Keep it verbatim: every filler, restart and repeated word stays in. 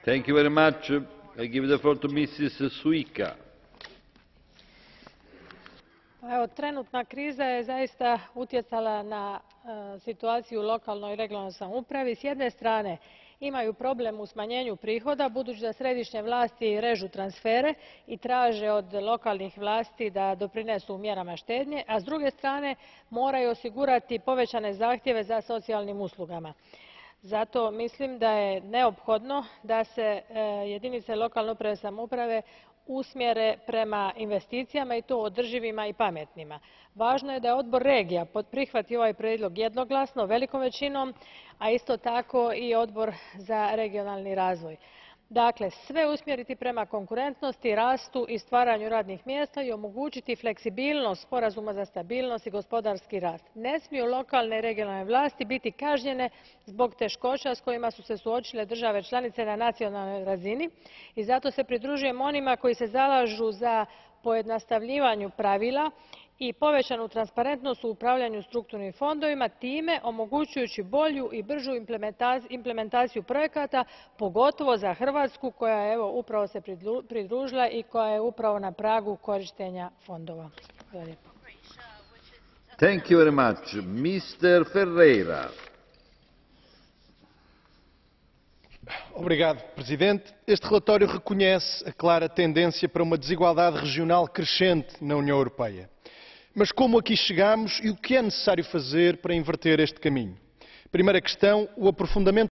Thank you very much. I give the floor to Missus Suica. Evo, trenutna kriza je zaista utjecala na e, situaciju u lokalnoj i regionalnoj samoupravi. S jedne strane imaju problem u smanjenju prihoda, budući da središnje vlasti režu transfere i traže od lokalnih vlasti da doprinesu mjerama štednje, a s druge strane moraju osigurati povećane zahtjeve za socijalnim uslugama. Zato mislim da je neophodno da se e, jedinice lokalne uprave i samouprave usmjere prema investicijama i to održivima i pametnima. Važno je da je Odbor regija prihvatio ovaj prijedlog jednoglasno, velikom većinom, a isto tako i Odbor za regionalni razvoj. Dakle, sve usmjeriti prema konkurentnosti, rastu i stvaranju radnih mjesta i omogućiti fleksibilnost sporazuma za stabilnost i gospodarski rast. Ne smiju lokalne i regionalne vlasti biti kažnjene zbog teškoća s kojima su se suočile države članice na nacionalnoj razini i zato se pridružujem onima koji se zalažu za pojednostavljivanje pravila i povećanu transparentnost u upravljanju strukturnim fondovima, time omogućujući bolju i bržu implementaciju projekata, pogotovo za Hrvatsku koja je evo, upravo se pridružila i koja je upravo na pragu korištenja fondova. Hvala lijepo. Thank you very much. Mister Ferreira. Obrigado, Presidente. Este relatório reconhece a clara tendência para uma desigualdade regional crescente na União Europeia. Mas como aqui chegamos e o que é necessário fazer para inverter este caminho? Primeira questão, o aprofundamento